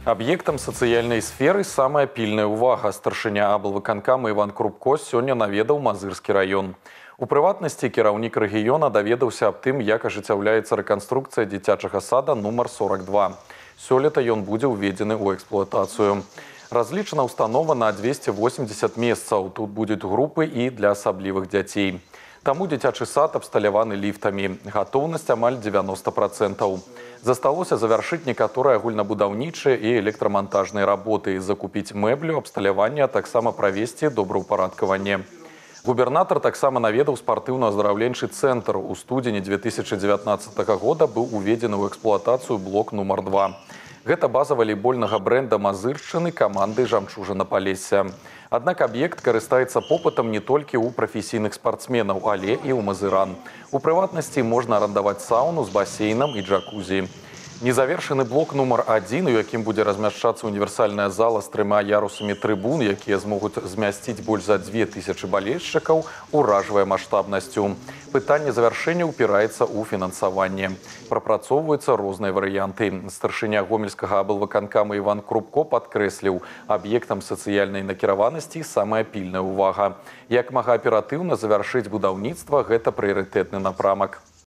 Аб'ектам сацыяльнай сферы самая пільная ўвага. Старшыня аблвыканкама Іван Крупко сёння наведаў Мазырскі раён. У прыватнасці кіраўнік рэгіёна даведаўся аб тым, як ажыццяўляецца рэканструкцыя дзіцячага сада нумар 42. Сёлета ён будзе ўведзены ў эксплуатацыю. Разлічана установа на 280 месцаў. Тут будуць групы і для асаблівых дзяцей. Таму дзіцячы сад абсталяваны ліфтамі. Гатоўнасць амаль 90%. Засталося завяршыць некаторыя агульнабудаўнічыя і электрамантажныя работы, закупіць мэблю, абсталяванне, а таксама правесці добраўпарадкаванне. Губернатар таксама наведаў спартыўна-аздараўленчы цэнтр. У студзені 2019 года быў уведзены ў эксплуатацыю блок нумар 2. Гэта база валейбольнага брэнда Мазыршчыны каманды «Жамчужына Палесся». Аднак аб'ект карыстаецца попытам не толькі ў прафесійных спартсменаў, але і ў мазыран. У прыватнасці можна арандаваць сауну з басейнам і джакузі. Незавершаны блок нумар 1, у якім будзе размяшчацца універсальная зала з 3 ярусамі трыбун, якія змогуць змясціць больш за 2000 балельшчыкаў, уражвае маштабнасцю. Пытанне завяршэння ўпіраецца ў фінансаванне. Прапрацоўваюцца розныя варыянты. Старшыня гомельскага аблвыканкама Іван Крупко падкрэсліў, аб'ектам сацыяльнай накіраванасці самая пільная ўвага. Як мага аператыўна завяршыць будаўніцтва – гэта прыярытэтны напрамак.